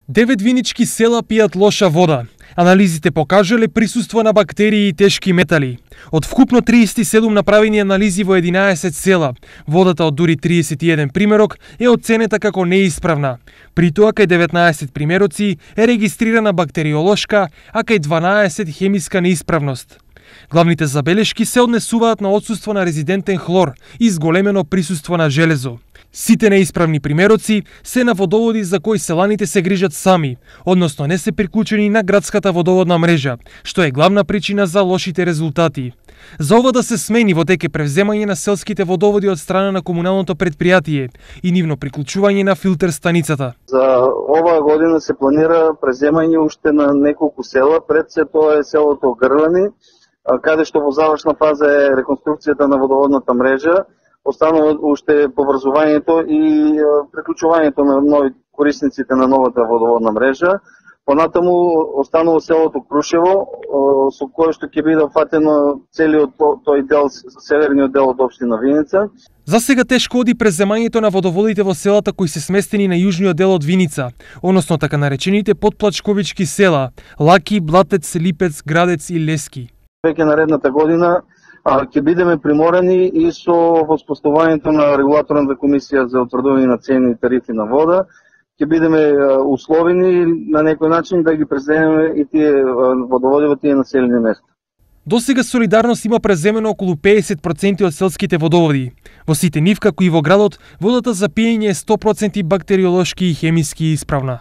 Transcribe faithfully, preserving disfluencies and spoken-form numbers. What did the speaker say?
Девет винички села пијат лоша вода. Анализите покажале присуство на бактерии и тешки метали. Од вкупно триесет и седум направени анализи во единаесет села, водата од дури триесет и еден примерок е оценета како неисправна. При тоа кај деветнаесет примероци е регистрирана бактериолошка, а кај дванаесет хемиска неисправност. Главните забелешки се однесуваат на отсуство на резидентен хлор и зголемено присуство на железо. Сите неисправни примероци се на водоводи за кои селаните се грижат сами, односно не се приклучени на градската водоводна мрежа, што е главна причина за лошите резултати. За ова да се смени во теке превземање на селските водоводи од страна на комуналното предпријатие и нивно приклучување на филтер станицата. За оваа година се планира преземање уште на неколку села, пред се тоа е селото Грлани, каде што во завршна фаза е реконструкцијата на водоводната мрежа. Останува уште поврзувањето и приклучувањето на нови корисниците на новата водоводна мрежа. Понатаму останува селото Крушево, со кое што ќе биде фатено целиот тој дел, северниот дел од општина Виница. За сега тешко оди преземањето на водоводите во селата кои се сместени на јужниот дел од Виница, односно така наречените подплачковички села Лаки, Блатец, Липец, Градец и Лески. Веќе наредната година ќе бидеме приморани и со воспоставувањето на регулаторната комисија за утврдување на цени и тарифи на вода, ќе бидеме условени на некој начин да ги преземеме и тие водоводи во тие населени места. До сега Солидарност има преземено околу педесет проценти од селските водоводи. Во сите нив, како и во градот, водата за пиење е сто проценти бактериолошки и хемиски исправна.